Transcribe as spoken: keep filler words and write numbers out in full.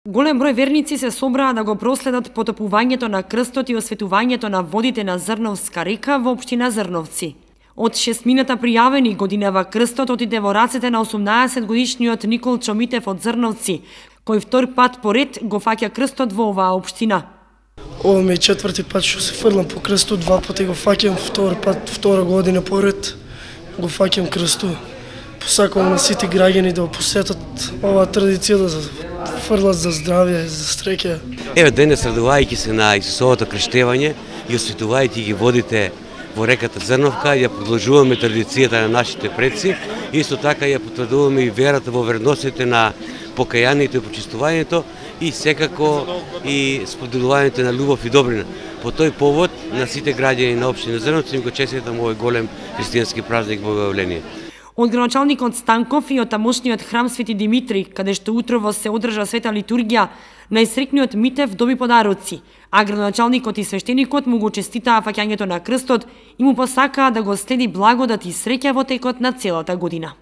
Голем број верници се собраа да го проследат потопувањето на крстот и осветувањето на водите на Зрновска река во општина Зрновци. Од шестмината пријавени годинава крстот отиде во рацете на осумнаесет годишниот Никол Чомитев од Зрновци, кој втор пат поред го фаќа крстот во оваа општина. Ова ми е четврти пат што се фрлам по крстот, два пати го фаќам, втор пат, втора година поред го фаќам крстот. Посакувам на сите граѓани да посетат оваа традиција, да фрлат за здравје, за среќа. Еве денес, радувајќи се на Исусовото крштевање и осветувајќи ги водите во реката Зрновка, ја продолжуваме традицијата на нашите предци, исто така ја потврдуваме и верата во верностите на покајанието и почистувањето и секако и споделувањето на љубов и добрина. По тој повод на сите граѓани на општина Зрновци им го честитам овој голем христијански празник Богојавление. Од градоначалникот Станков и од тамошниот храм Свети Димитри, каде што утрово се одржа света литургија, најсрекниот Митев доби подароци, а градоначалникот и свештеникот му го честитаа фаќањето на крстот и му посакаа да го следи благодат и среќа во текот на целата година.